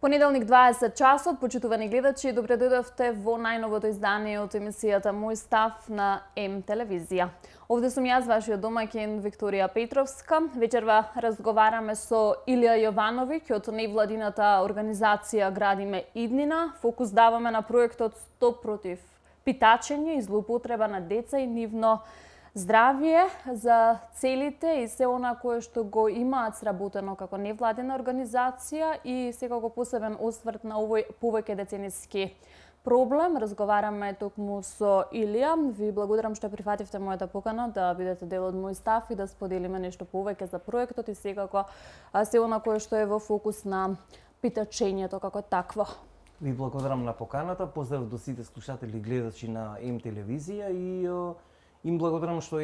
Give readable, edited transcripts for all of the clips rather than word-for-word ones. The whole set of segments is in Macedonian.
Понеделник 20 часот, почитувани гледачи, добре дојдовте во најновото издание од емисијата Мој став на М телевизија. Овде сум јас, вашиот домаќин Викторија Петровска. Вечерва разговараме со Илија Јовановиќ од невладината организација Градиме иднина. Фокус даваме на проектот Стоп против питачење и злоупотреба на деца и нивно здравје за целите и се она кое што го имаат сработено како невладена организација и секако посебен осврт на овој повеќе децениски проблем. Разговараме токму со Илија. Ви благодарам што прифативте мојата покана да бидете дел од Мој став и да споделиме нешто повеќе за проектот и секако се она кое што е во фокус на питачењето како такво. Ви благодарам на поканата. Поздрав до сите слушатели и гледачи на М телевизија и им благодарам што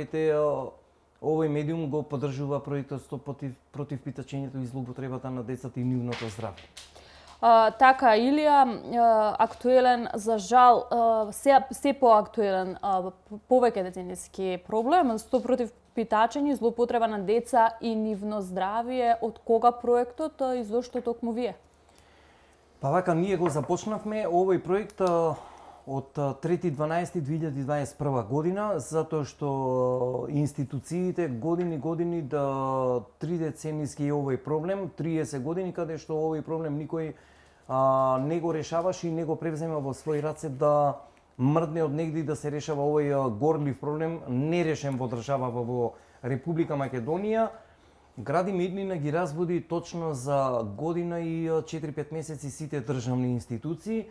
овој медиум го поддржува проектот Стоп против питачењето и злоупотребата на децата и нивното здравје. Така, Илија, актуелен, за жал, се поактуелен повеќе децениски проблем, Стоп против питачење и злоупотреба на деца и нивно здравје. Од кога проектот и зошто токму вие? Па вака, ние го започнавме овој проект од 3.12.2021 година, затоа што институциите години да 3 децениски е овој проблем, 30 години каде што овој проблем никој не го решаваше и не го превзема во своји раце да мрдне од негде да се решава овој горлив проблем, нерешен во државава во Република Македонија. Градиме иднина ги разбуди точно за година и 4-5 месеци сите државни институции,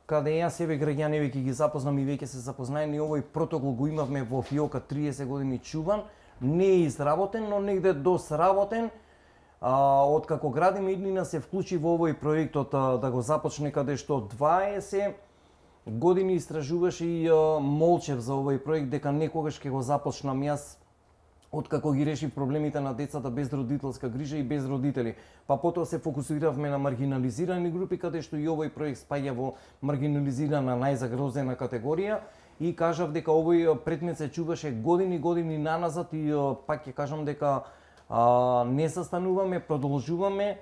каде јас себе граѓани веќе ги запознам и веќе се запознаени, овој протокол го имавме во фиока 30 години чуван, не е изработен, но негде досработен. Откако Градиме иднина се вклучи во овој проектот да го започне, каде што 20 години истражуваше и молчев за овој проект дека некогаш ќе го започнам јас, откако ги решив проблемите на децата без родителска грижа и без родители. Па потоа се фокусиравме на маргинализирани групи, каде што и овој проект спаѓа во маргинализирана најзагрозена категорија и кажав дека овој предмет се чуваше години наназад и пак ќе кажам дека не застануваме, продолжуваме.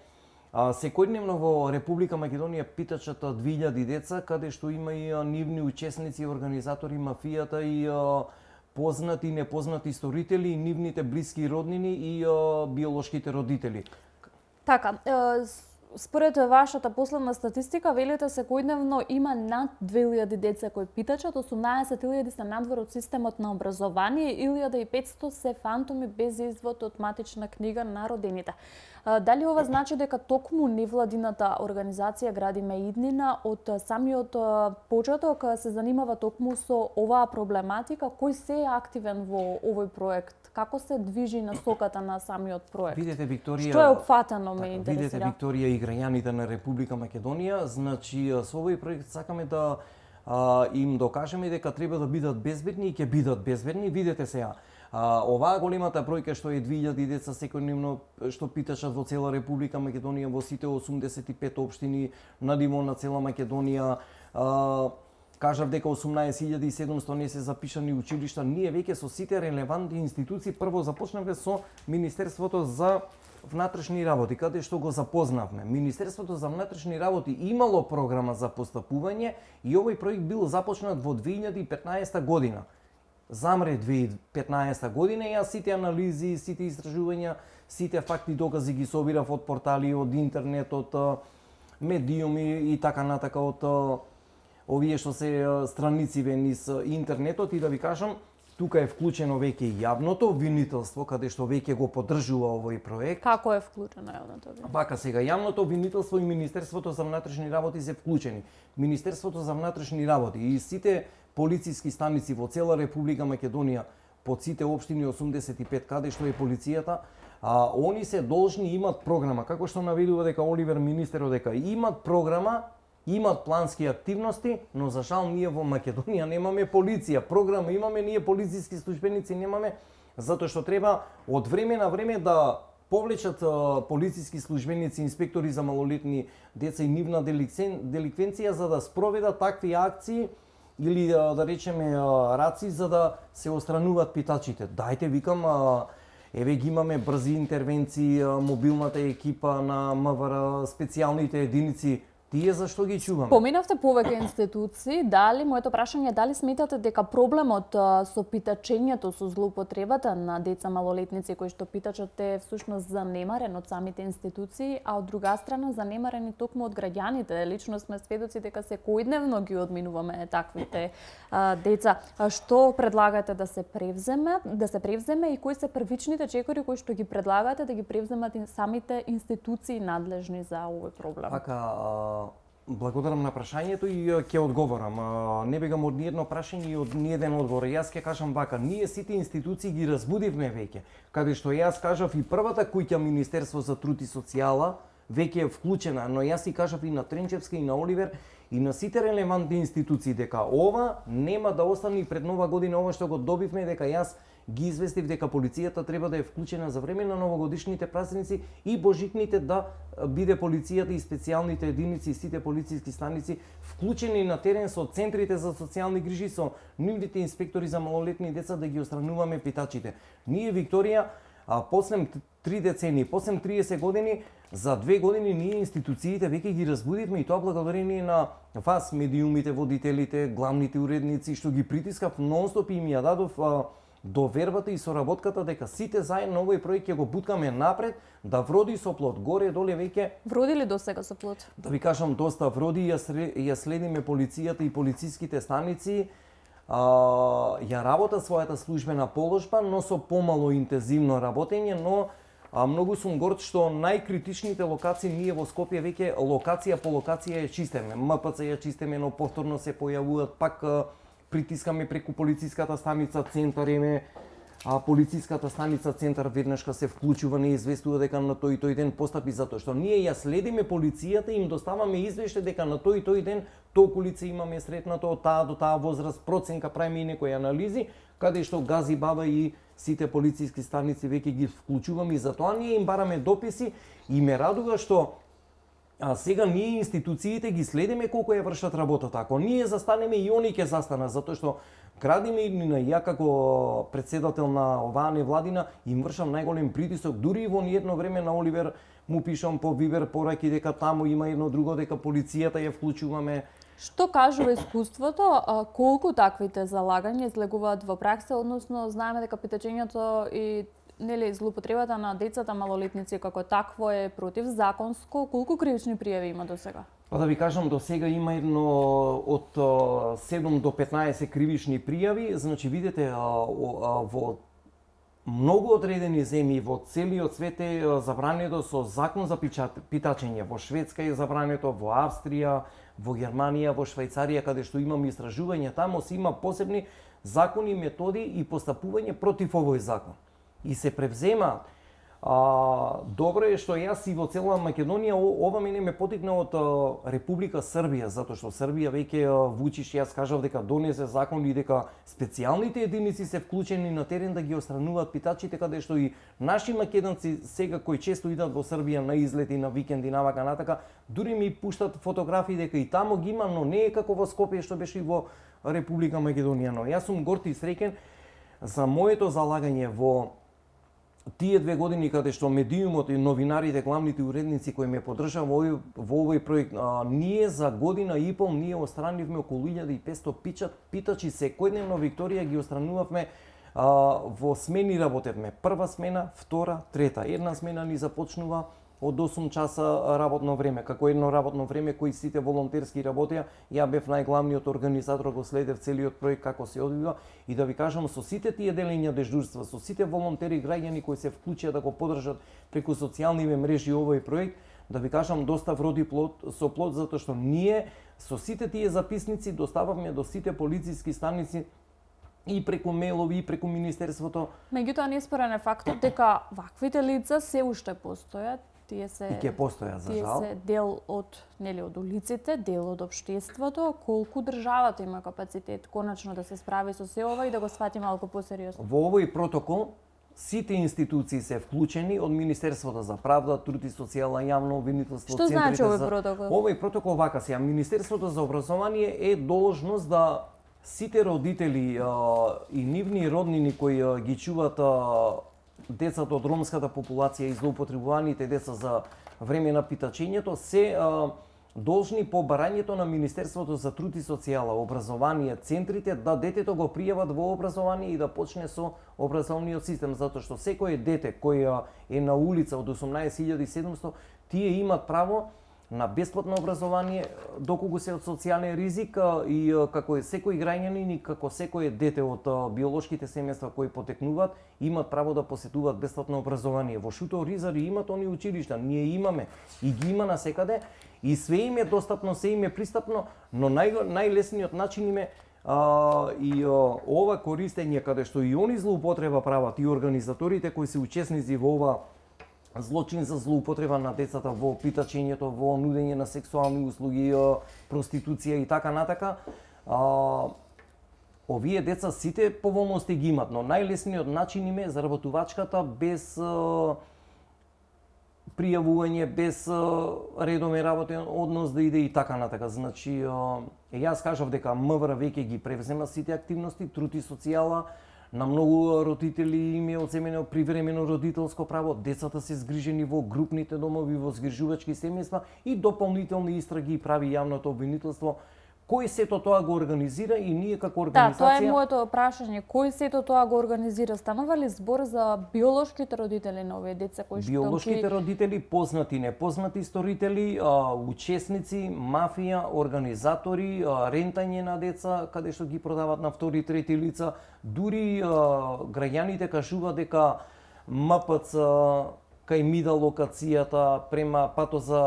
Секојдневно во Република Македонија питачат 2000 деца, каде што има и нивни учесници, организатори, мафијата и познати и непознати сторители, и нивните блиски роднини и биолошките родители. Така, според вашата последна статистика, велите секојдневно има над 2000 деца кои питачат, 18.000 се надвор од системот на образование, 1500 се фантоми без извод од матична книга на родените. Дали ова значи дека токму невладината организација Градиме иднина од самиот почеток се занимава токму со оваа проблематика? Кој се е активен во овој проект? Како се движи насоката на самиот проект? Видете, Викторија, што е опфатено, ме интересира. Видете, Викторија, и граѓаните на Република Македонија, значи со овој проект сакаме да им докажеме дека треба да бидат безбедни и ќе бидат безбедни. Видете сега, оваа големата бројка што е 2000 деца секојдневно што питачат во цела Република Македонија, во сите 85 општини на ниво на цела Македонија, кажав дека 18.700 не се запишани училишта. Ние веќе со сите релевантни институции прво започнавме со Министерството за внатрешни работи, каде што го запознавме. Министерството за внатрешни работи имало програма за постапување и овој проект бил започнат во 2015 година. Замре 2015 година, јас сите анализи, сите истражувања, сите факти докази ги собирав од портали, од интернет, од медиуми и така натака, од овие што се страници низ интернетот, и да ви кажам, тука е вклучено веќе и јавното обвинителство, каде што веќе го поддржува овој проект. Како е вклучено јавното обвинителство? Вака сега, јавното обвинителство и Министерството за внатрешни работи се вклучени. Министерството за внатрешни работи и сите полициски станици во цела Република Македонија, по сите општини 85 каде што е полицијата, они се должни имат програма, како што наведува дека Оливер министерот дека имат програма, имат плански активности, но за жал ние во Македонија немаме полиција. Програма имаме, ние полициски службеници немаме, затоа што треба од време на време да повлечат полициски службеници, инспектори за малолетни деца и нивна деликвенција за да спроведат такви акции или да речеме раци за да се отстрануваат питачите. Дајте, викам, еве ги имаме брзи интервенции, мобилната екипа на МВР, специјалните единици Тие зашто ги чуваме? Поминавте повеќе институции, дали моето прашање е дали сметате дека проблемот со питачењето, со злоупотребата на деца малолетници кои што питачат е всушност занемарен од самите институции, а од друга страна занемарени токму од граѓаните. Лично сме сведоци дека секојдневно ги одминуваме таквите деца. Што предлагате да се превземе и кои се првичните чекори кои што ги предлагате да ги превземат самите институции надлежни за овој проблем? Благодарам на прашањето и ќе одговорам. Не бегам од ниедно прашање и од ниеден одговор. Јас ќе кажам вака, ние сите институции ги разбудивме веќе, каде што јас кажав и првата куќа Министерство за труд и социјала веќе е вклучена, но јас и кажав и на Тренчевска и на Оливер и на сите релевантни институции дека ова нема да остане и пред нова година, ова што го добивме дека јас ги известив дека полицијата треба да е вклучена за време на новогодишните празници и божитните, да биде полицијата и специјалните единици и сите полициски станици вклучени на терен со центрите за социјални грижи, со нивните инспектори за малолетни деца да ги отстрануваме питачите. Ние Викторија после 3 децении, после 30 години, за 2 години ние институциите веќе ги разбудивме и тоа благодарение на вас, медиумите, водителите, главните уредници, што ги притискав нонстоп и им ја дадов довербата и соработката дека сите заедно овој проект ќе го буткаме напред, да вроди со плод. Горе доле веќе вроди ли досега со плод? Да ви кажам, доста вроди, ја следиме полицијата и полициските станици. Ја работа својата службена положба, но со помало интензивно работење, но многу сум горд што најкритичните локации ние во Скопје веќе локација по локација ја чистиме. МПЦ ја чистиме, но повторно се појавуваат, пак притискаме преку полициската станица Центар еме, полициската станица Центар веднашка се вклучува, не известува дека на тој ден постапи, затоа што ние ја следиме полицијата и им доставаме извештај дека на тој ден толку лице имаме сретнато од таа до таа возраст, проценка, правиме и некои анализи, каде што Гази Баба и сите полициски станици веќе ги вклучуваме и затоа ние им бараме дописи и ме радува што сега ние институциите ги следиме колку ја вршат работата. Ако ние застанеме и они ќе застанат, затоа што градиме и на ја како председател на оваа невладина им вршам најголем притисок, дури и во ниедно време на Оливер му пишам по Вибер пораки дека таму има едно друго, дека полицијата ја вклучуваме. Што кажува искуството, колку таквите залагања излегуваат во пракса, односно знаеме дека питачењето и злоупотребата на децата малолетници како такво е противзаконско, колку кривични пријави има досега? Па да ви кажам, до сега има едно од 7 до 15 кривични пријави, значи видите во многу одредени земји во целиот свет е забрането со закон за питачење. Во Шведска е забрането, во Австрија, во Германија, во Швајцарија, каде што имаме истражувања, таму се има посебни закони, методи и постапување против овој закон. И се превзема. Добро е што јас и во цела Македонија, ова мене ме потикна од Република Србија, затоа што Србија веќе Вучич, јас кажав дека донесе закон и дека специјалните единици се вклучени на терен да ги отстрануваат питачите, каде што и наши македонци сега кои често идат во Србија на излети, на викенди, навака натака, дури ми пуштат фотографии дека и таму ги има, но не е како во Скопје што беше и во Република Македонија. Но јас сум горд и среќен за моето залагање во тие 2 години каде што медиумот и новинарите, главните уредници кои ме поддржаа во овој проект, ние за година и пол ние отстранивме околу 1500 питачи секојдневно. Викторија ги отстранувавме во смени, работевме прва смена, втора, трета. Една смена ни започнува од 8 часа работно време, како едно работно време кои сите волонтерски работеа. Ја бев најглавниот организатор, го следев целиот проект како се одвива и да ви кажам, со сите тие делења дежурства, со сите волонтери, граѓани кои се вклучија да го поддржат преку социјалните мрежи овој проект, да ви кажам, доста вроди со плод, затоа што ние со сите тие записници достававме до сите полициски станици и преку мейлови, и преку Министерството. Меѓутоа неспорен е фактот дека ваквите лица се уште постојат. Тие се и ќе постојат, за жал. Тие се дел од од улиците, дел од општеството. Колку државата има капацитет конечно да се справи со се ова и да го свати малку посериозно? Во овој протокол сите институции се вклучени, од Министерството за правда, труд и социјална јавно обвинителство. Што значи овој протокол? Овој протокол вака сега, Министерството за образование е должност да сите родители и нивни роднини кои ги чуваат децата од ромската популација и злоупотребуваните деца за време на питачењето се должни по барањето на Министерството за труд и социјала, образование, центрите да детето го пријават во образование и да почне со образовниот систем, затоа што секое дете кој е на улица од 18.700, тие имат право на бесплатно образование доколку се од социјален ризик и како секој граѓанин и како секое дете од биолошките семејства кои потекнуваат имат право да посетуваат бесплатно образование. Во Шуто Ризари имат они училишта, ние имаме и ги има насекаде и све им е достапно, се им е пристапно, но најлесниот начин им е ова користење каде што и они злоупотреба прават и организаторите кои се учесници во ова злочин за злоупотреба на децата во питачењето, во нудење на сексуални услуги, проституција и така натака. Овие деца сите поволности ги имат, но најлесниот начин им е заработувачката без пријавување, без редомен работен однос да иде и така натака. Значи, јас кажав дека МВР веќе ги превзема сите активности, труд и социјала, на многу родители им е одземено привремено родителско право, децата се згрижени во групните домови, во згрижувачки семејства и дополнителни истраги прави јавното обвинителство. Кој сето тоа го организира и ние како организација... Да, тоа е моето прашање. Кој сето тоа го организира? Станува ли збор за биолошките родители на овие деца кои што биолошките родители, познати, непознати сторители, учесници, мафија, организатори, рентање на деца каде што ги продават на втори и трети лица, дури граѓаните кажуваат дека МПЦ кај Мида локацијата према пато за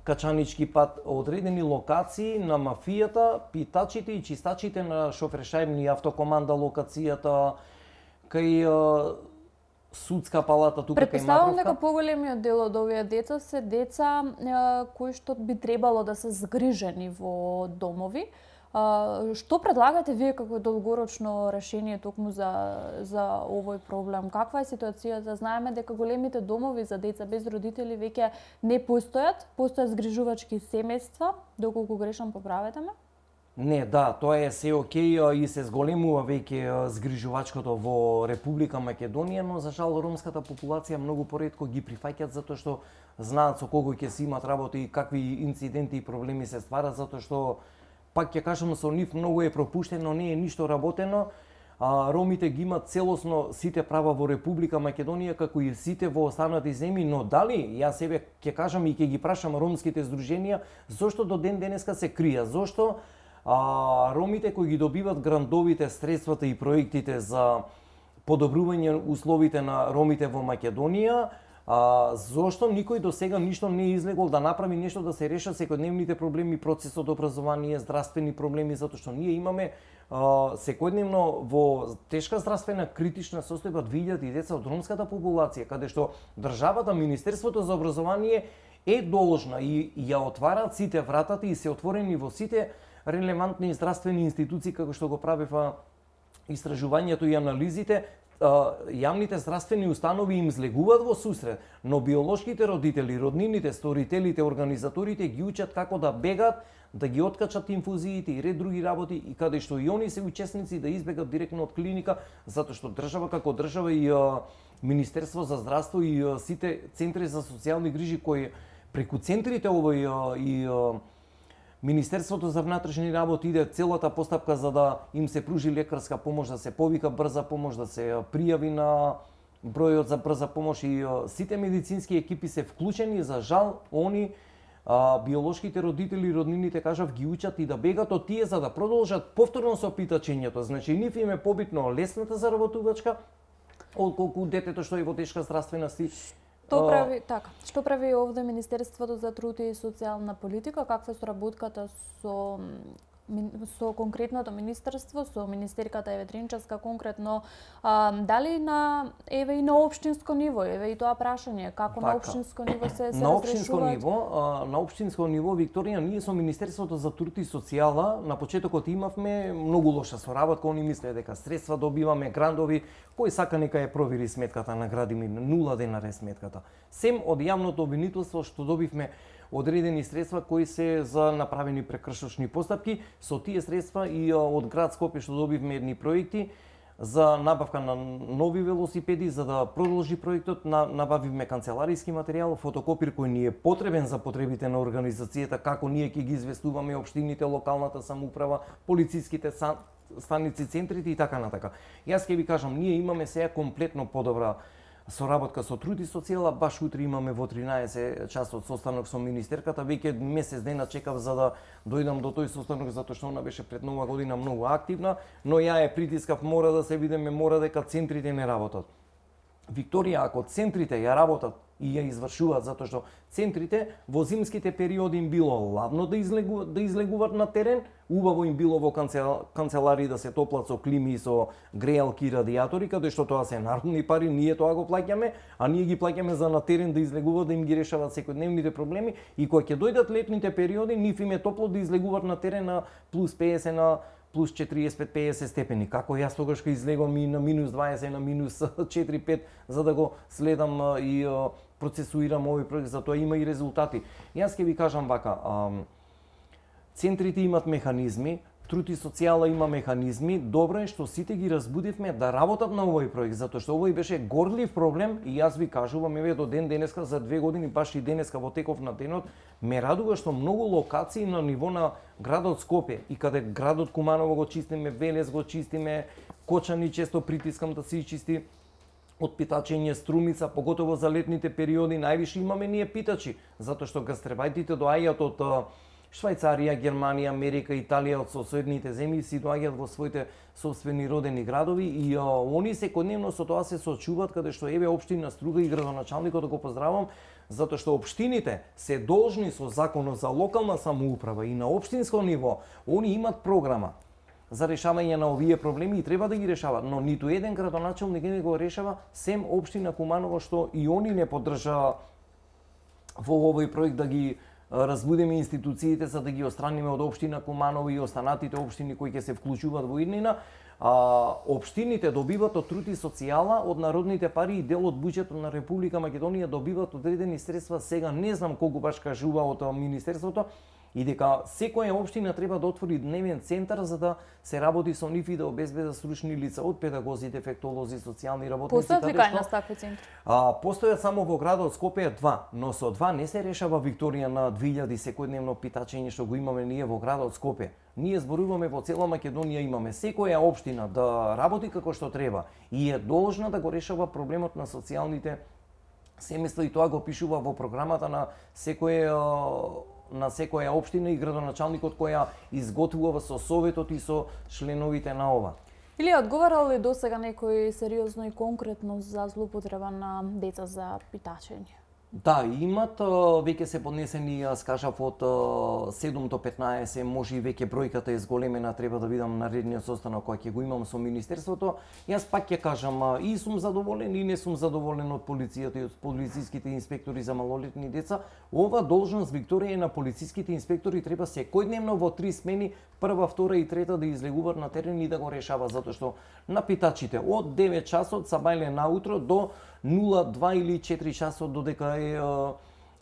Качанички пат, одредени локации на мафијата, питачите и чистачите на Шофершајбни автокоманда локацијата, кај судска палата тука кај Матровка. Претпоставувам дека поголемиот дел од овие деца се деца кои што би требало да се згрижени во домови. Што предлагате вие како долгорочно решение токму за овој проблем? Каква е ситуацијата? Знаеме дека големите домови за деца без родители веќе не постојат згрижувачки семејства, доколку грешам поправете ме? Не, да, тоа е се окей и се зголемува веќе згрижувачкото во Република Македонија, но за жал ромската популација многу поретко ги прифаќаат затоа што знаат со кого ќе си имат работа и какви инциденти и проблеми се стварат, затоа што пак ќе кажам, со нив многу е пропуштено, не е ништо работено. Ромите ги имат целосно сите права во Република Македонија, како и сите во останати земји, но дали, јас себе ќе кажам и ќе ги прашам ромските здруженија, зошто до ден денеска се крија? Зошто ромите кои ги добиват грантовите, средствата и проектите за подобрување условите на ромите во Македонија, зошто никој до сега ништо не е излегол да направи нешто да се решат секојдневните проблеми, процесот образование, здравствени проблеми, затоа што ние имаме секојдневно во тешка здравствена критична состојба 2000 деца од ромската популација, каде што државата, Министерството за образование е должна и ја отвараат сите вратата и се отворени во сите релевантни здравствени институции, како што го правеа истражувањето и анализите. Јавните здравствени установи им злегуваат во сусрет, но биолошките родители, роднините, сторителите, организаторите ги учат како да бегат, да ги откачат инфузиите и ред други работи и каде што и они се учесници да избегат директно од клиника, затоа што држава како држава и Министерство за здравство и сите центри за социјални грижи кои преку центрите овој и Министерството за внатрешни работи иде целата постапка за да им се пружи лекарска помош, да се повика брза помош, да се пријави на бројот за брза помош и сите медицински екипи се вклучени. За жал, они биолошките родители и роднините кажав ги учат и да бегат од тие за да продолжат повторно со питачењето. Значи нив им е побитно лесната заработувачка отколку детето што е во тешка здравствена Што прави овде Министерството за труд и социјална политика? Каква е соработката со конкретното министерство, со министерката Ветринчевска конкретно, дали еве и на општинско ниво, еве и тоа прашање, како на општинско ниво се разрешуваат? На општинско ниво, Викторија, ние со Министерството за труд и социјала на почетокот имавме многу лоша соработка, они мислеа дека средства добиваме, грандови, кој сака нека ја провери сметката, наградиме 0 денари сметката. Сем од јавното обвинителство што добивме одредени средства кои се за направени прекршочни постапки, со тие средства и од град Скопје што добивме едни проекти, за набавка на нови велосипеди, за да продолжи проектот, набавивме канцелариски материјал, фотокопир кој ни е потребен за потребите на организацијата, како ние ќе ги известуваме општините, локалната самоуправа, полициските станици, центрите и така натака. Јас ќе ви кажам, ние имаме сега комплетно подобра соработка со Труд и социјала, баш утре имаме во 13 часот состанок со министерката, веќе месец дена чекав за да дојдам до тој состанок, затоа што она беше пред нова година многу активна, но ја притискав, мора да се видиме, мора дека центрите не работат. Викторија, ако центрите ја работат и ја извршуваат, затоа што центрите во зимските периоди им било ладно да излегуваат на терен, убаво им било во канцеларии да се топлат со клими и со грејалки и радиатори, каде што тоа се народни пари, ние тоа го плаќаме, а ние ги плаќаме за на терен да излегуваат, да им ги решаваат секојдневните проблеми, и кога ќе дојдат летните периоди, нив им е топло да излегуваат на терен на плюс 50 на плюс 45-50 степени. Како јас тогаш ќе излегувам и на минус 20, на минус 4-5, за да го следам и процесуирам овој проект, затоа има и резултати. Јас ќе ви кажам вака, центрите имат механизми, Труд и социјала има механизми, добро е што сите ги разбудивме да работат на овој проект, затоа што овој беше горлив проблем и јас ви кажувам, еве до ден денеска, за 2 години, баш и денеска во теков на денот, ме радува што многу локации на ниво на градот Скопје и каде градот Куманово го чистиме, Велес го чистиме, Кочани често притискам да се чисти, од питачење Струмица, поготово за летните периоди, највише имаме ние питачи, затоа што гастребајтите доаѓаат од Швајцарија, Германија, Америка, Италија, од соседните земји, си доаѓаат во своите собствени родени градови и они секојдневно со тоа се соочуваат, каде што еве општина Струга и градоначалникот да го поздравам, затоа што општините се должни со законот за локална самоуправа и на општинско ниво, они имат програма за решавање на овие проблеми и треба да ги решават, но ниту еден градоначалник не го решава, сем општина Куманово, што и они не поддржаа во овој проект да ги разбудиме институциите за да ги отстраниме од општина Куманово и останатите општини кои ќе се вклучуваат во иднина. Општините добиваат од Труд и социјала, од народните пари и дел од буџетот на Република Македонија добиваат одредени средства. Сега не знам колку баш кажува од Министерството, и дека секоја општина треба да отвори дневен центар за да се работи со нив и да обезбедат стручни лица од педагози, дефектолози, социјални работници. Постојат ли кај нас такви центри? Постојат само во градот Скопје 2, но со 2 не се решава Викторија на 2000 секојдневно питачење што го имаме ние во градот Скопје. Ние зборуваме во цела Македонија, имаме секоја општина да работи како што треба и е должна да го решава проблемот на социјалните семејства и тоа го пишува во програмата на секоја општина и градоначалникот која изготвува со советот и со членовите на ова. Или одговарал ли досега некој сериозно и конкретно за злоупотреба на деца за питачење? Да, имат, веќе се поднесени, јас кажав, од 7 до 15, може и веќе бројката е зголемена, треба да видам наредниот состанок кој ќе го имам со Министерството. Јас пак ќе кажам, и сум задоволен и не сум задоволен од полицијата и од полициските инспектори за малолетни деца. Ова должност, Викторија, на полициските инспектори треба секојдневно во 3 смени, прва, втора и трета да излегуваат на терен и да го решава, затоа што на питачите од 9 часот са бајле наутро до 0-2 или 4 часот додека е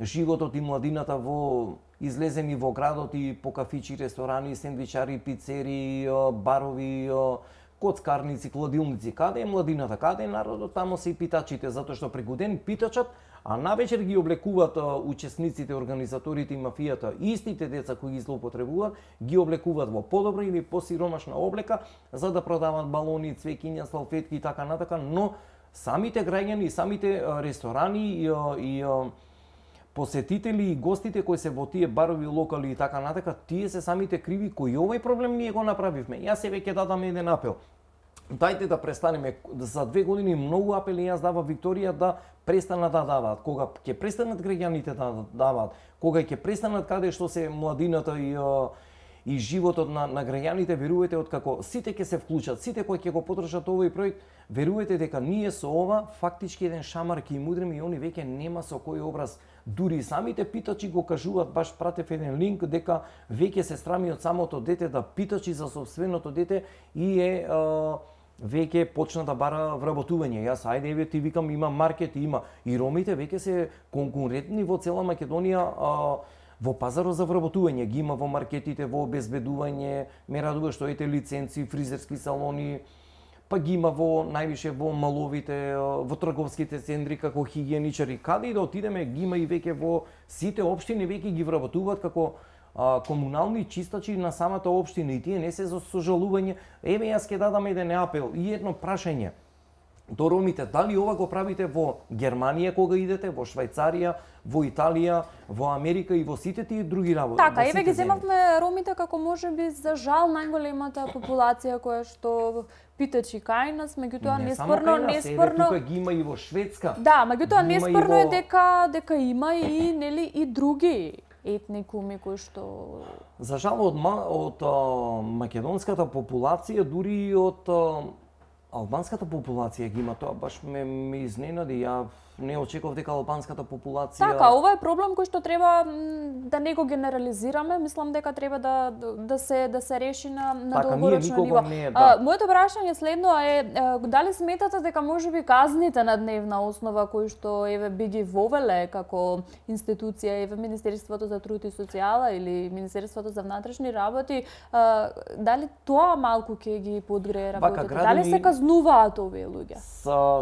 животот и младината во излезени во градот и по кафичи, ресторани, сендвичари, пицери, барови, коцкарници, кладилници. Каде е младината, каде е народот, тамо се и питачите, затоа што преку ден питачат, а навечер ги облекуваат учесниците, организаторите и мафијата, истите деца кои ги злоупотребуваат, ги облекуваат во подобра или посиромашна облека за да продаваат балони, цвеќиња, салфетки и така натака, но самите граѓани, самите ресторани и посетители и гостите кои се во тие барови, локали и така натака, тие се самите криви кои овој проблем ние го направивме. Јас се веќе дадам еден апел. Дајте да престанеме, за 2 години многу апели јас дава Викторија да престанат да даваат. Кога ќе престанат граѓаните да даваат, кога ќе престанат каде што се младината и животот на граѓаните, верувате откако сите ќе се вклучат, сите кои ќе го подржат овој проект, верувате дека ние со ова фактички еден шамар ќе им удриме и они веќе нема со кој образ. Дури самите питачи го кажуваат, баш пратев еден линк дека веќе се срами од самото дете да питачи за собственото дете и веќе почна да бара вработување. Јас ајде еве ти викам има маркет, има и ромите веќе се конкурентни во цела Македонија во пазарот за вработување, ги има во маркетите, во обезбедување, ме радува што ете лиценци, фризерски салони, па ги има во највише во маловите, во трговските центри како хигиеничари. Каде и да отидеме, ги има и веќе во сите општини, веќе ги вработуваат како комунални чистачи на самата општина и тие не се за сожалување. Еве јас ќе дадам еден апел и едно прашање до ромите, дали ова го правите во Германија кога идете, во Швајцарија, во Италија, во Америка и во сите тие други работи. Така, еве ги земавме ромите како можеби за жал најголемата популација која што питачи кај нас, меѓутоа неспорно тука ги има и во Шведска. Да, меѓутоа неспорно е дека има и нели и други етникуми кои што за жал од македонската популација, дури и од албанската популација ги има, тоа баш ме изненади. Ја не очекував дека албанската популација... Така, ова е проблем кој што треба да не го генерализираме, мислам дека треба да се реши на долгорочно ниво. Моето прашање следно е дали сметате дека можеби казните на дневна основа кои што еве би ги вовеле како институција еве Министерството за труд и социјала или Министерството за внатрешни работи, дали тоа малку ќе ги подгрее работите? Дали се казнуваат овие луѓе?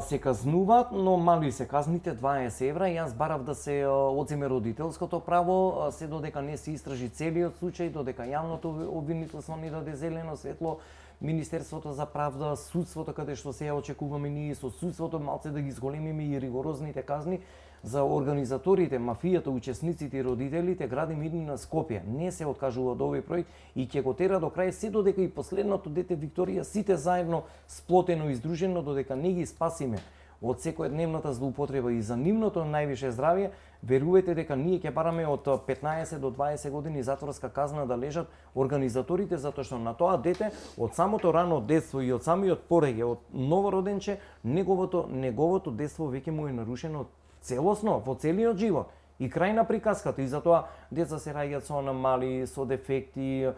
Се казнуваат, но мали се казните 20 евра. Јас барав да се одземе родителското право, се додека не се истражи целиот случај, додека јавното обвинителство не даде зелено светло, Министерството за правда, судството, каде што се очекуваме ние со судството, малце да ги зголемиме и ригорозните казни за организаторите, мафијата, учесниците и родителите, градим идни на Скопје. Не се откажува од овој проект и ќе го тера до крај се додека и последното дете Викторија сите заедно сплотено и издружено, додека не ги спасиме од секојдневната злоупотреба и за нивното највише здравје, верувате дека ние ќе бараме од 15 до 20 години затворска казна да лежат организаторите, затоа што на тоа дете од самото рано детство и од самиот пореѓај, од новороденче, неговото детство веќе му е нарушено целосно во целиот живот. И крај на приказката, и затоа деца се раѓаат со аномалии, со дефекти,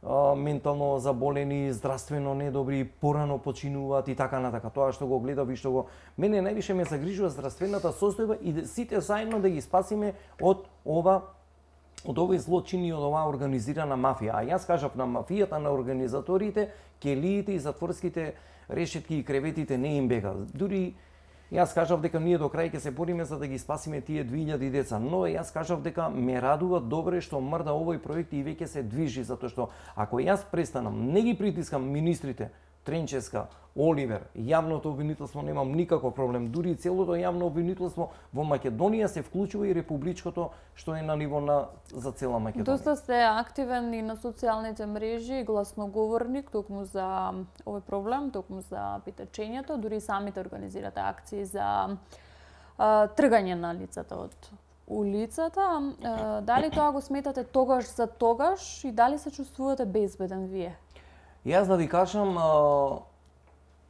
ментално заболени, здравствено недобри, порано починуваат и така натака. Тоа што го гледав и што го мене највише ме загрижува здравствената состојба и сите заедно да ги спасиме од овој злочин и од оваа организирана мафија. А јас кажав на мафијата, на организаторите, келиите и затворските решетки и креветите не им бега. Дури јас кажав дека ние до крај ќе се бориме за да ги спасиме тие 2000 деца, но јас кажав дека ме радува добре што мрда овој проект и веќе се движи, затоа што ако јас престанам, не ги притискам министрите, Тренческа, Оливер, јавното обвинителство немам никаков проблем, дури целото јавно обвинителство во Македонија се вклучува и републичкото што е на ниво за цела Македонија. Доста сте активен и на социјалните мрежи, гласноговорник токму за овој проблем, токму за питачењето, дури самите организирате акции за тргање на лицата од улицата. Дали тоа го сметате тогаш за тогаш и дали се чувствувате безбеден вие? Јас да ви кажам,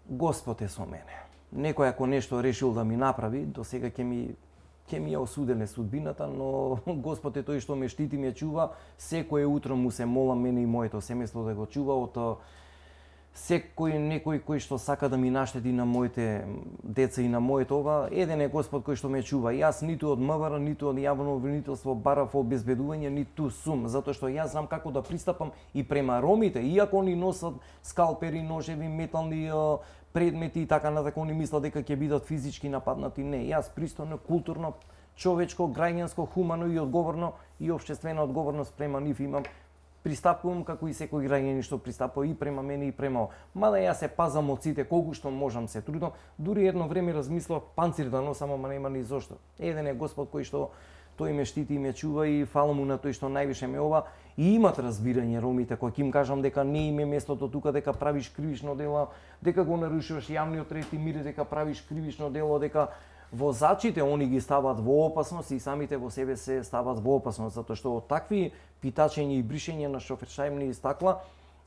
Господ е со мене. Некој ако нешто решил да ми направи, до сега ќе ми ја осуделе судбината, но Господ е тој што ме штити, ме чува. Секој утро му се молам мене и моето семејство да го чува од некој кој што сака да ми наштети на моите деца и на моето ова. Еден е Господ кој што ме чува. Јас ниту од МВР, ниту од јавно обвинителство барав обезбедување, ниту сум, затоа што јас знам како да пристапам и према ромите, иако они носат скалпери, ножеви, метални предмети и така натака, они мислат дека ќе бидат физички нападнати. Не, јас пристојно, културно, човечко, граѓанско, хумано и одговорно и општествена одговорност према нив имам. Пристапувам како и секој граѓанин што пристапува и према мене и према. Мада јас се пазам од сите, колку што можам се трудам. Дури едно време размислав панцир да носам, ама нема ни зошто. Еден е Господ кој што тој ме штити и ме чува и фала му на тој што највише ме ова. И имат разбирање ромите, кој ќе им кажам дека не им е местото тука, дека правиш кривично дело, дека го нарушуваш јавниот ред и мир, дека правиш кривично дело, дека возачите они ги стават во опасност и самите во себе се стават во опасност, затоа што од такви питачења и бришење на шофершајмни стакла,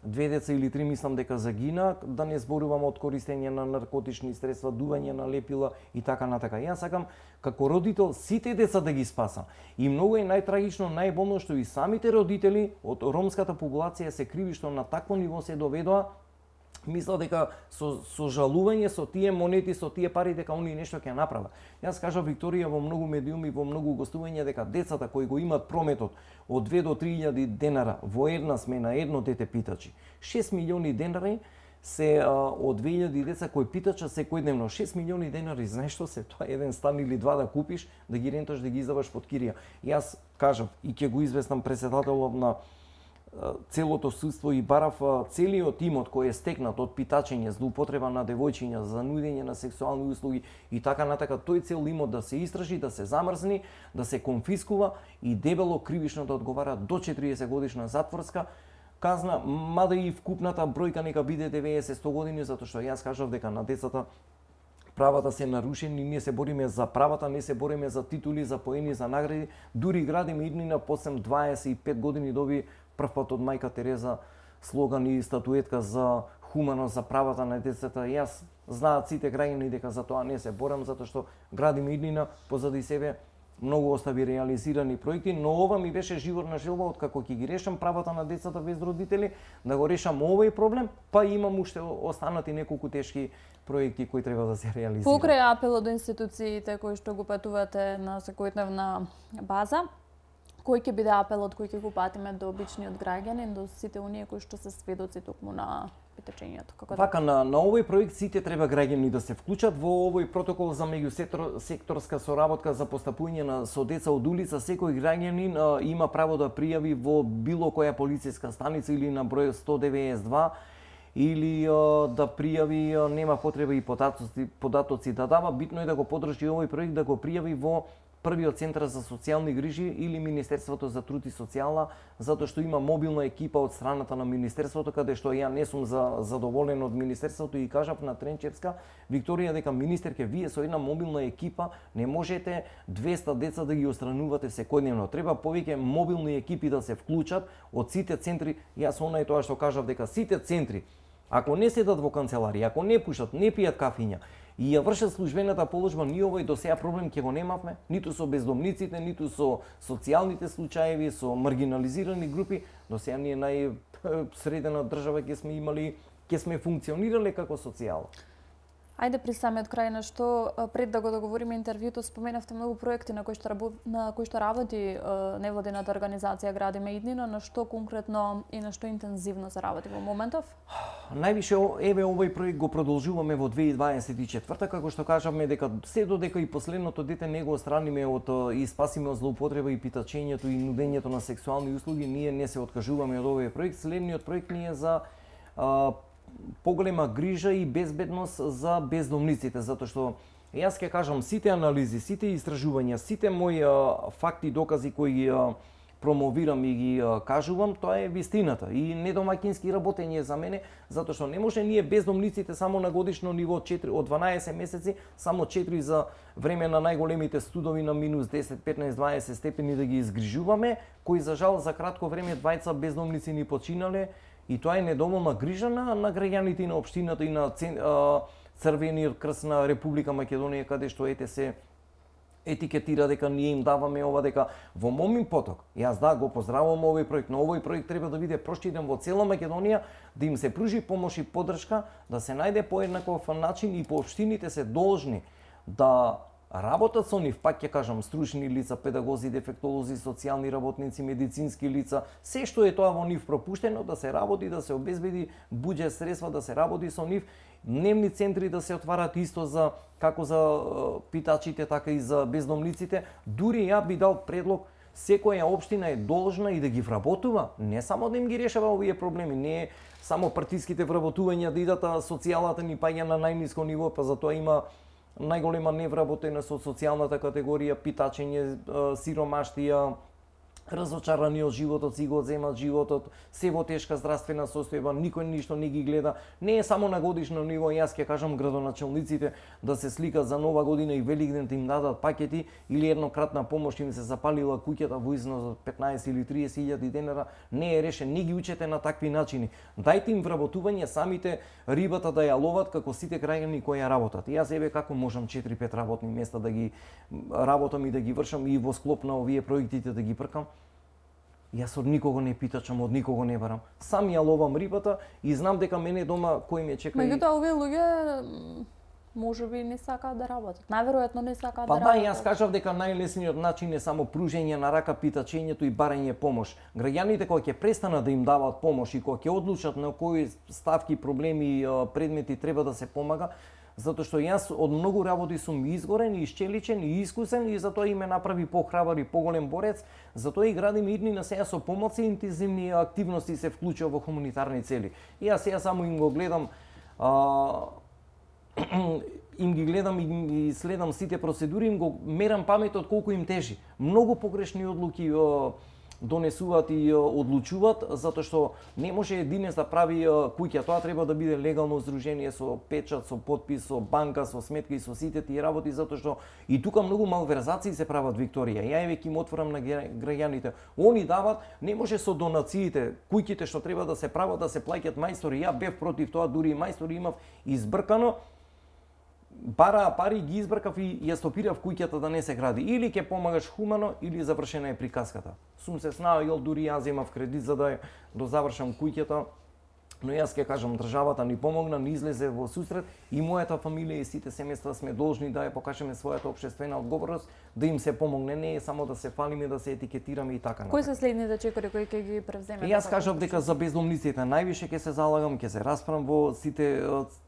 2 деца или 3 мислам дека загина, да не зборувам од користење на наркотични средства, дување на лепила и така натака. Јас сакам како родител сите деца да ги спасам. И многу е најтрагично, најболно што и самите родители од ромската популација се криви што на такво ниво се доведоа. Мисла дека со жалување, со тие монети, со тие пари, дека они нешто ќе направат. Јас кажав Викторија во многу медиуми, во многу гостувања, дека децата кои го имат прометот од 2 до 3.000 денара во една смена, едно дете питачи, 6 милиони денари се од 2000 деца кои питача секојдневно 6 милиони денари, знаеш што се, тоа е еден стан или два да купиш, да ги ренташ, да ги издаваш под кирија. Јас кажав и ќе го известам председателот на целото судство и барав целиот имот кој е стекнат од питачење, злоупотреба на девојчиња, за нудење на сексуални услуги и така натака, тој цел имот да се истражи, да се замрзни, да се конфискува и дебело кривично да одговара до 40 годишна затворска казна, мада и вкупната бројка нека биде 90-100 години, затоа што јас кажав дека на децата правата се нарушени, ние се бориме за правата, не се бориме за титули, за поени, за награди, дури градиме иднина после 25 години доби првпат од мајка Тереза слоган и статуетка за хуманост, за правата на децата. Јас знаат сите граѓани дека за тоа не се борам, затоа што градиме иднина позади себе многу остави реализирани проекти, но ова ми беше животна желба откако ќе ги решам правата на децата без родители, да го решам овој проблем, па имам уште останати неколку тешки проекти кои треба да се реализираат. Покрај апелот до институциите кои што го патувате на секојдневна база, кој ќе биде апелот кој ќе го патиме до обичниот граѓанин, до сите оние кои што се сведоци токму на питачењето? Вака, на овој проект сите треба граѓани да се вклучат во овој протокол за меѓусекторска соработка за постапување со деца од улица. Секој граѓанин има право да пријави во било која полициска станица или на број 192 или да пријави, нема потреба и податоци да дава, битно е да го подржи овој проект, да го пријави во првиот центар за социјални грижи или Министерството за труд и социјална, затоа што има мобилна екипа од страната на Министерството, каде што ја не сум задоволен од Министерството и кажав на Тренчевска, Викторија, дека министерке, вие со една мобилна екипа не можете 200 деца да ги отстранувате секојдневно. Треба повеќе мобилни екипи да се вклучат од сите центри. Јас онај тоа што кажав дека сите центри, ако не седат во канцеларија, ако не пушат, не пијат кафиња, и ја вршат службената положба, ние овој до сега проблем ќе го немавме, ниту со бездомниците, ниту со социјалните случаеви, со маргинализирани групи. До сега ние најсредена држава ќе сме имали, ќе сме функционирале како социјала. Ајде при самиот крај, на што пред да го договориме интервјуто, споменавте многу проекти на кои што работи невладината организација Градиме иднина, на што конкретно и на што интензивно се работи во моментов? Највише еве овој проект го продолжуваме во 2024, како што кажавме дека се додека и последното дете не го отстраниме од и спасиме од злоупотреба и питачењето и нудењето на сексуални услуги, ние не се откажуваме од овој проект. Следниот проект ни е за поголема грижа и безбедност за бездомниците, затоа што јас ќе кажам сите анализи, сите истражувања, сите мои факти, докази кои ги промовирам и ги кажувам, тоа е вистината и недомаќински работење за мене, затоа што не може ние бездомниците само на годишно ниво 4 од 12 месеци, само 4 за време на најголемите студови на минус 10, 15, 20 степени да ги изгрижуваме, кои за жал за кратко време двајца бездомници ни починале. И тоа е недоволна грижа на граѓаните и на општината и на Црвениот крст на Република Македонија, каде што се етикетира дека ние им даваме ова, дека во момин поток. Јас го поздравувам овој проект, но овој проект треба да биде проширен во цела Македонија, да им се пружи помош и поддршка, да се најде поеднаков начин и по општините се должни да работат со нив, пак ќе кажам, стручни лица, педагози, дефектолози, социјални работници, медицински лица, се што е тоа во нив пропуштено, да се работи, да се обезбеди буџет средства, да се работи со нив, дневни центри да се отварат исто за како за питачите, така и за бездомниците. Дури ја би дал предлог, секоја општина е должна и да ги вработува, не само да им ги решава овие проблеми, не само партиските вработувања да идат, а социјалната ни паѓа на најниско ниво, па затоа има најголема невработена со социјалната категорија, питачење, сиромаштија, разочарани од животот, си го земат животот, се во тешка здравствена состојба, никој ништо не ги гледа. Не е само на годишно ниво, јас ќе кажам градоначалниците да се сликат за Нова година и Великден да им дадат пакети или еднократна помош им се запалила куќата во износ од 15 или 30 илјади денара, не е решен, не ги учете на такви начини. Дајте им вработување, самите рибата да ја ловат како сите граѓани кои ја работат. Јас еве како можам 4-5 работни места да ги работам и да ги вршам и во склоп на овие проектите да ги пркам. Јас од никого не питачам, од никого не барам. Сам ја ловам рибата и знам дека мене дома кој ме чека. Меѓутоа овие луѓе можеби не сакаат да работат. Најверојатно не сакаат да работат. Па да, јас кажав дека најлесниот начин е само пружење на рака, питачењето и барање помош. Граѓаните кога ќе престанат да им даваат помош и кога ќе одлучат на кои ставки, проблеми, предмети треба да се помага, затоа што јас од многу работи сум изгорен, исчеличен и искусен и затоа и ме направи похрабар и поголем борец, затоа и градим идни на сега со помоци и интензивни активности се вклучува во хуманитарни цели. И јас сега само им го гледам им ги гледам и следам сите процедури, им го мерам паметот колку им тежи. Многу погрешни одлуки донесуваат и одлучуваат, затоа што не може единец да прави куќа, тоа треба да биде легално здружение со печат, со потпис, со банка, со сметка и со сите тие работи, затоа што и тука многу малверзации се прават, Викторија. Ја веќе им отворам на граѓаните. Они дават, не може со донациите, куќите што треба да се прават, да се плаќаат мајстори. Ја бев против тоа, дури и мајстори имав избркано. Бараа пари, ги избркав и ја стопирав куќата да не се гради. Или ќе помагаш хумано, или завршена е приказката. Сум се снаоѓал, дури јас земав кредит за да завршам куќата, но јас ќе кажам, државата ни помогна, ни излезе во сусрет и мојата фамилија и сите семејства сме должни да ја покажеме својата општествена одговорност, да им се помогне, не е само да се фалиме, да се етикетираме и така Кои се следните чекори кои ќе ги превземете? Јас кажав дека за бездомниците највише ќе се залагам, ќе се расправам во сите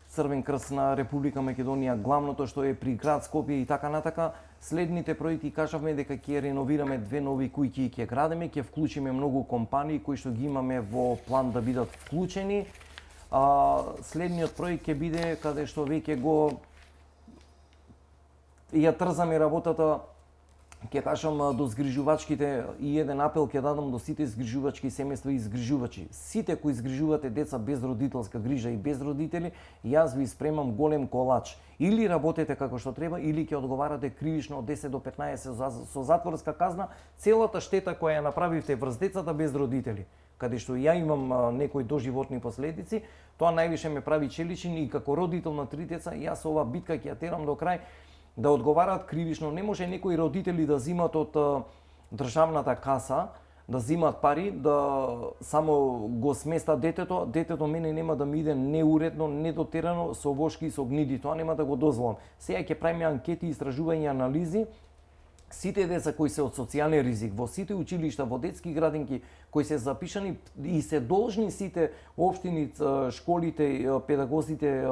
Црвен крст на Република Македонија, главното што е при град Скопје и така натака. Следните проекти кажавме дека ќе реновираме 2 нови куќи и ќе градиме, ќе вклучиме многу компании кои што ги имаме во план да бидат вклучени. Следниот проект ќе биде каде што веќе го ја трзаме работата, ќе кажам до згрижувачките и еден апел ќе дадам до сите згрижувачки семејства и згрижувачи. Сите кои згрижувате деца без родителска грижа и без родители, јас ви спремам голем колач. Или работете како што треба, или ќе одговарате кривично од 10 до 15 со затворска казна целата штета која ја направивте врз децата без родители. Каде што ја имам некои доживотни последици, тоа највише ме прави челичен и како родител на 3 деца, јас ова битка ќе ја терам до крај, да одговараат кривично. Не може некои родители да зимат од државната каса, да зимат пари, да само го сместат детето. Детето мене нема да ми иде неуредно, недотерано, со вошки и со гниди. Тоа нема да го дозволам. Сега ќе правиме анкети, истражувања, анализи. Сите деца кои се од социјален ризик, во сите училишта, во детски градинки, кои се запишани и се должни сите општини, школите, педагозите,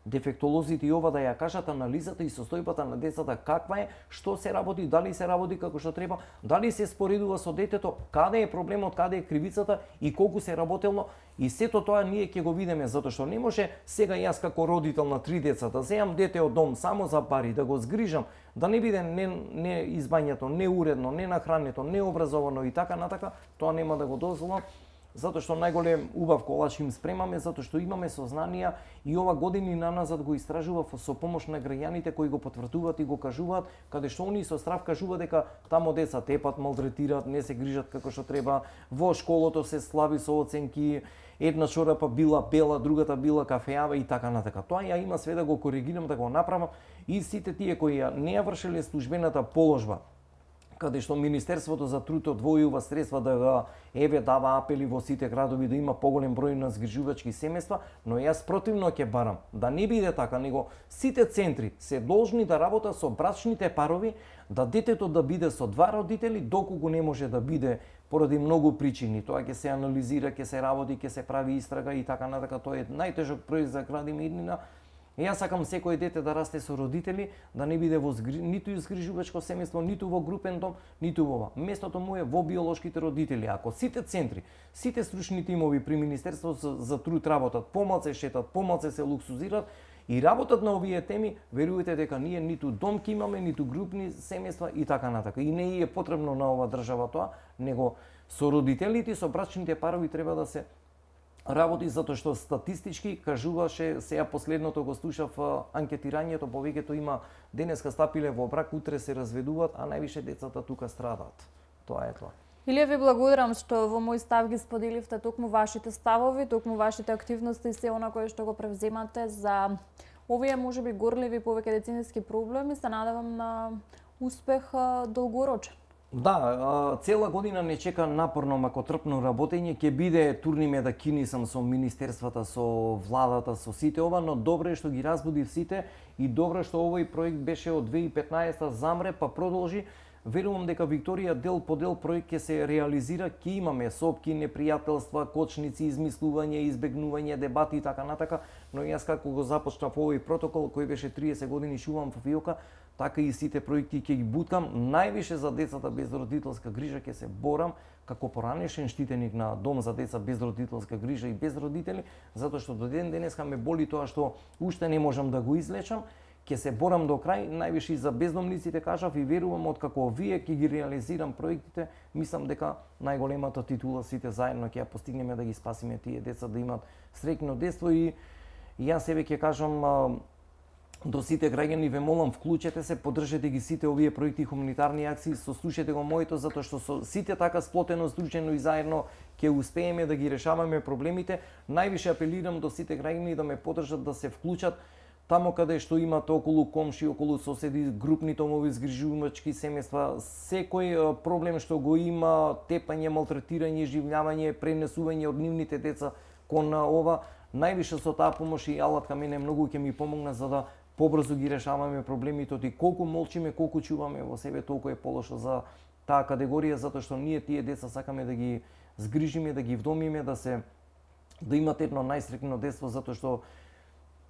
дефектолозите и ова да ја кажат анализата и состојбата на децата каква е, што се работи, дали се работи како што треба, дали се споредува со детето, каде е проблемот, каде е кривицата и колку се работелно, и сето тоа ние ќе го видиме, затоа што не може сега јас како родител на 3 деца да земам дете од дом само за пари, да го згрижам, да не биде не избањето, неуредно, не нахрането, необразовано и така натака, тоа нема да го дозволам. Затоа што најголем убав колач им спремаме, затоа што имаме сознанија и ова години наназад го истражував со помош на граѓаните кои го потврдуваат и го кажуваат, каде што они со страв кажуваат дека тамо деца тепат, малтретираат, не се грижат како што треба, во школото се слаби со оценки, една чорапа била бела, другата била кафеава и така натака. Тоа ја има све да го коригирам, да го направам и сите тие кои не ја вршеле службената положба, каде што Министерството за труд одвојува средства да го дава апели во сите градови да има поголем број на згрижувачки семејства, но јас противно ќе барам да не биде така, него сите центри се должни да работат со брачните парови, да детето да биде со 2 родители, доколку не може да биде поради многу причини. Тоа ќе се анализира, ќе се работи, ќе се прави истрага и така натака. Тоа е најтежок проект за градиме иднина. Јас сакам секој дете да расте со родители, да не биде ниту згрижувачко семејство, ниту во групен дом, ниту во ова. Местото му е во биолошките родители. Ако сите центри, сите стручни тимови при Министерството за труд работат, помалку се шетат, помалку се луксузираат и работат на овие теми, верувате дека ние ниту дом ќе имаме, ниту групни семејства и така натака. И не е потребно на ова држава тоа, него со родителите, со брачните парови треба да се работи, затоа што статистички кажуваше, сега последното го слушав анкетирањето, повеќето има денеска стапиле во брак, утре се разведуваат, а највише децата тука страдаат. Тоа е тоа. Илија, ви благодарам што во мој став ги споделивте токму вашите ставови, токму вашите активности и се она кое што го превземате за овие можеби горливи повеќе деценски проблеми. Се надевам на успех долгорочен. Да, цела година не чека напорно, макотрпно работење, ќе биде турниме да кинисам со министерствата, со владата, со сите ова, но добро е што ги разбуди сите и добро е што овој проект беше од 2015 замре, па продолжи. Верувам дека Викторија дел по дел проект ќе се реализира, ќе имаме сопки, непријателства, кочници, измислување, избегнување, дебати и така натака, но јас како го започнав овој протокол кој беше 30 години шувам во ФИОКа, така и сите проекти ќе ги буткам. Највише за децата без родителска грижа ќе се борам како поранешен штитеник на дом за деца без родителска грижа и без родители, затоа што до ден денеска ме боли тоа што уште не можам да го излечам. Ќе се борам до крај, највише за бездомниците кажав и верувам откако вие ќе ги реализирам проектите, мислам дека најголемата титула сите заедно ќе ја постигнеме да ги спасиме тие деца да имат среќно детство и јас себе ќе кажам до сите граѓани ве молам вклучете се, поддржете ги сите овие проекти хуманитарни акции, сослушате го моето затоа што со сите така сплотено, здружено и заедно ќе успееме да ги решаваме проблемите. Највише апелирам до сите граѓани да ме поддржат да се вклучат тамо каде што имат околу комши, околу соседи, групни домови, згрижувачки семејства, секој проблем што го има, тепање, малтретирање, живљавање, пренесување од нивните деца кон ова, највише со таа помош и алатка мене многу ќе ми помогна за да побрзо ги решаваме проблемите, и колку молчиме, колку чуваме во себе, толку е полошо за таа категорија, затоа што ние тие деца сакаме да ги згрижиме, да ги вдомиме, да имат едно најсреќно детство, затоа што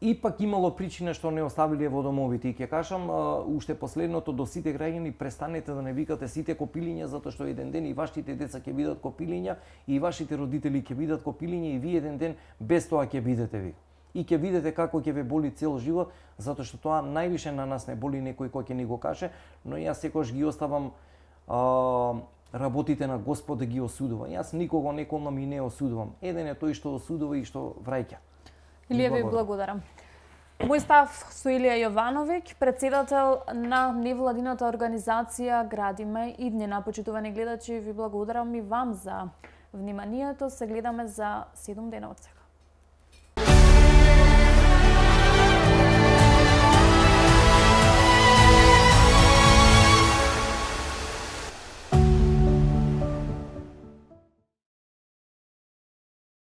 ипак имало причина што не оставиле во домовите. И ќе кажам уште последното до сите граѓани, престанете да не викате сите копилиња, затоа што еден ден и вашите деца ќе бидат копилиња и вашите родители ќе бидат копилиња и вие еден ден без тоа ќе бидете ви. И ќе видите како ќе ве боли цел живот, затоа што тоа највише на нас не боли некој кој ќе ни го каже, но јас секогаш ги оставам работите на Господ да ги осудува. Јас никого неколнам и не осудувам. Еден е тој што осудува и што враќа. Илија, ви благодарам. Мој став со Илија Јовановиќ, председател на невладината организација Градиме иднина. Почитувани гледачи, ви благодарам и вам за вниманието. Се гледаме за 7 дена од сега.